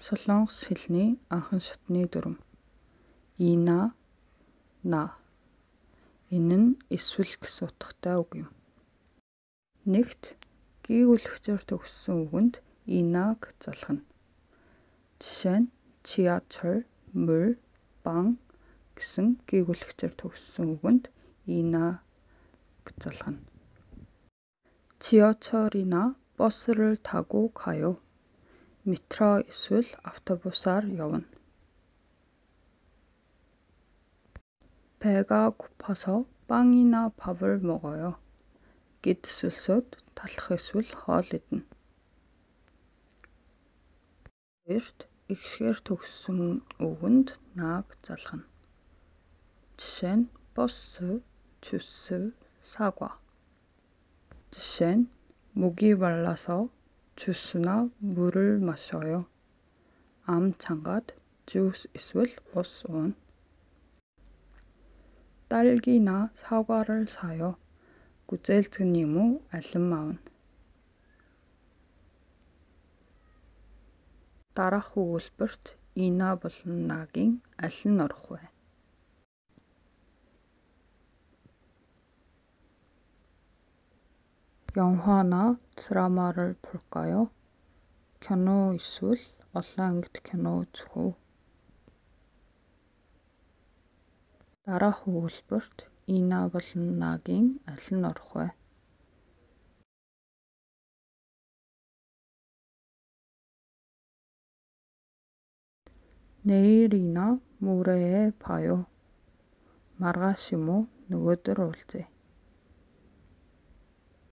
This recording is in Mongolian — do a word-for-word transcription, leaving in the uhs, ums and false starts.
Солонгос хэлний анхан шатны дүрм. Ина, на. Энэ нь эсвэл гэсэн утгатай үг юм. Нэгт гүйгүүлэгчээр төгссөн үгэнд инаг залхана. Жишээ нь 지하철, 물, 빵 гэсэн гүйгүүлэгчээр төгссөн үгэнд ина залхана. 지하철이나 버스를 타고 가요. метро эсвэл автобусаар явна. 배가 고파서 빵이나 밥을 먹어요. Гэдэсэлсөд талах эсвэл хоол идэнэ. Хоёрт ихшгээр төгссөн үгэнд нааг залхана. Жишээ нь 버스, 주스, 사과. жишээ нь 목이 말라서 주스나 물을 마셔요. ам чангаад 주스 эсвэл ус уuna. 딸기나 사과를 사요. гүзээлцгэн юм уу алин аавна. Дараах өгүүлбэрт ина болон нагийн аль нь орох вэ? 영화나 드라마를 볼까요? кино эсвэл олон ангит кино үзэх үү? Дараах өгүүлбэрт ина болон нагийн аль нь орох вэ? 내일이나 모레에 봐요. маргааш юм уу нөгөөдөр уулзъя.